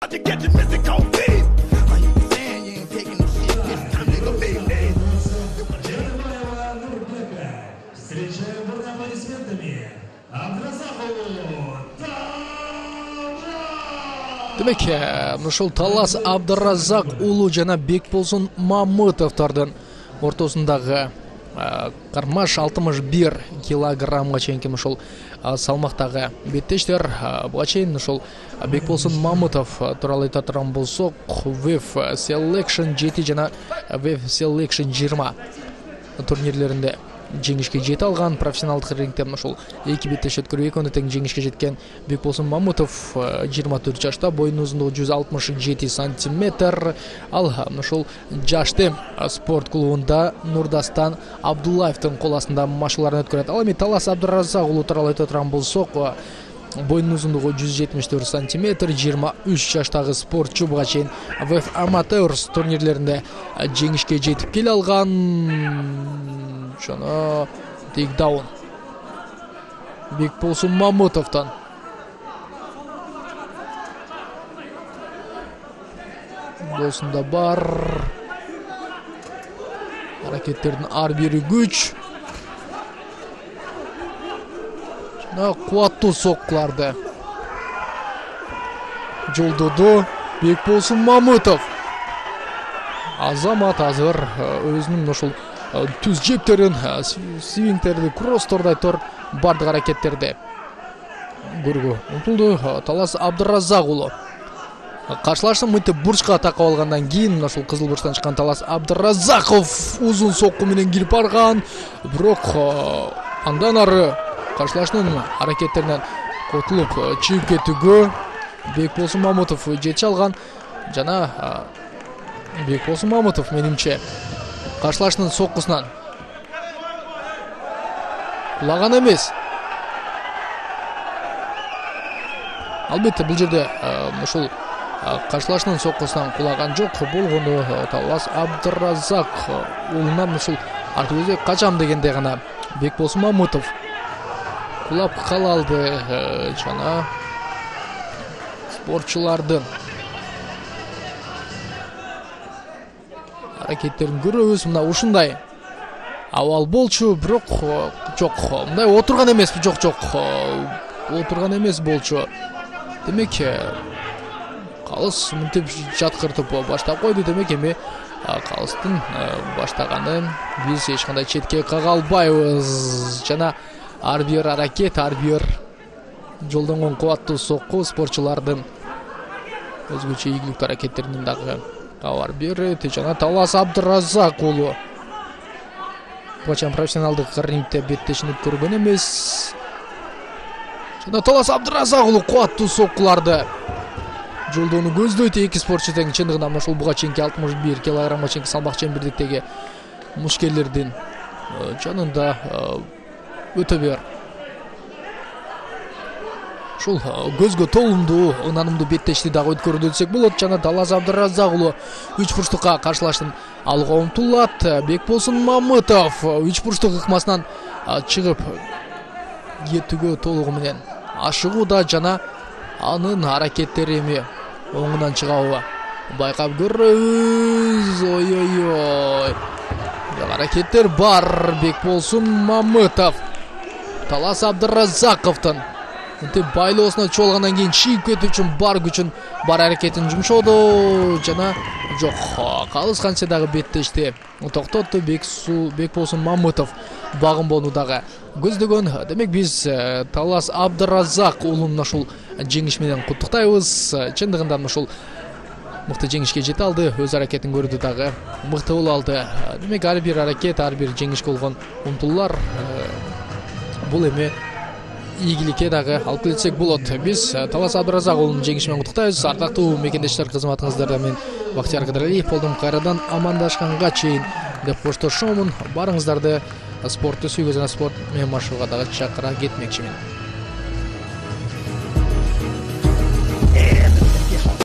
Встречаем аплодисментами Абдразакову Демек, ушул Талас Абдразак уулу жана Бекболсун Мамытовдордун ортосундагы кармаш 61 килограммга чейинки ушул салмактагы беттештер. Буга чейин ушул Бекболсун Мамытов тууралуу айта турган болсок, WEF Selection 7 жана WEF Selection 20 турнирлеринде жеңишке жете алган. Профессионалдык рингде ушул эки беттеш өткөрүп экөөнө тең жеңишке жеткен Бекболсун Мамытов 24 жашта, боюнун узундугу 167 сантиметр. Ал ушул Жаштем спорт клубунда Нурдастан Абдуллаевдин кол астында машыгууларын өткөрөт. Ал эми Талас Абдразак уулу тууралуу айта турган болсок, боюнун узундугу 174 сантиметр, 23 жаштагы спортчу. Буга чейин WEF Amateurs турнирлеринде жеңишке жетип келе алган. Жана тейкдаун Бекболсун Мамытовдон. Болсунда бар аракеттердин ар бири күч жана кубаттуу соккуларды жолдоду Бекболсун Мамытов. Азамат азыр өзүнүн ушул түз жептерин, свингтерди, кроссторду айтор бардык аракеттерди көрүүгө умтулду Талас Абдразак уулу. Каршылашты мынтип бурчка такап алгандан кийин ушул кызыл бурчтан чыккан Талас Абдразаков узун сокку менен кирип барган, бирок андан ары каршылаштын аракеттеринен котулуп чыгып кетүүгө Бекболсун Мамытов жете алган. Жана Бекболсун Мамытов менимче каршылаштын соккусунан кулаган эмес. Албетте бул жерде ушул каршылаштын соккусунан кулаган жок болгону Талас Абдразак уулунан ушул артыбызга качам дегенде гана Бекболсун Мамытов кулап кала алды. Жана спортчулардын аракеттерин көрөбүз. Мына ушундай абал болчу, бирок жок, мындай отурган эмес, жок, отурган эмес болчу. Демек калыс мынтип жаткыртып баштап койду. Демек эми калыстын баштаганын биз эч кандай четке кага албайбыз. Жана ар бир аракет, ар бир жолдонгон кубаттуу сокку спортчулардын өзгөчө ийгиликтүү аракеттеринин дагы кабар берет. Жана Талас Абдразак уулу бачан профессионалдык рингде беттешинип көргөн эмес. Жана Талас Абдразак уулу кубаттуу соккуларды жолдоону көздөйт. Эки спортчу тең чындыгында ушул буга чейинки 61 килограммга чейинки салмак чембирдиктеги мушкелердин жанында өтө бир ушул көзгө толумдуу, ынанымдуу беттешти дагы өткөрүүдө десек болот. Жана Талас Абдразак уулу 3 бурчтукка каршылаштын алга умтулат. Бекболсун Мамытов 3 бурчтук ыкмасынан чыгып кетүүгө толугу менен ашыгууда. Жана анын аракеттери эми оңунан чыгабы байкап көрөбүз. Ой. Аракеттер бар. Бекболсун Мамытов Талас Абдразаковдун мынтип байлоосуна чогулгандан кийин чыгып кетүү үчүн бар күчүн, бар аракетин жумшоодо. Жана жок, калыс канча дагы беттешти токтотту. Бекболсун Мамытов багынбоону дагы көздөгөн. Демек биз Талас Абдразак уулун ушул жеңиш менен куттуктайбыз. Чындыгында ушул мыкты жеңишке жете алды, өз аракетин көрдү дагы мыкты боло алды. Демек ар бир аракет, ар бир жеңишке болгон умтулуулар бул эми ийгиликке дагы алып келсек болот. Биз Талас Абдразак уулунун жеңиши менен куттуктайбыз. Ардактуу мекендештер, кызматыңыздарда мен Бактияр Кыдыралиев болдум. Кайрадан амандашканга чейин деп коштошомун. Барыңыздарды спортты сүйгөн жана спорт менен машыгууга дагы чакыра кетмекчимин.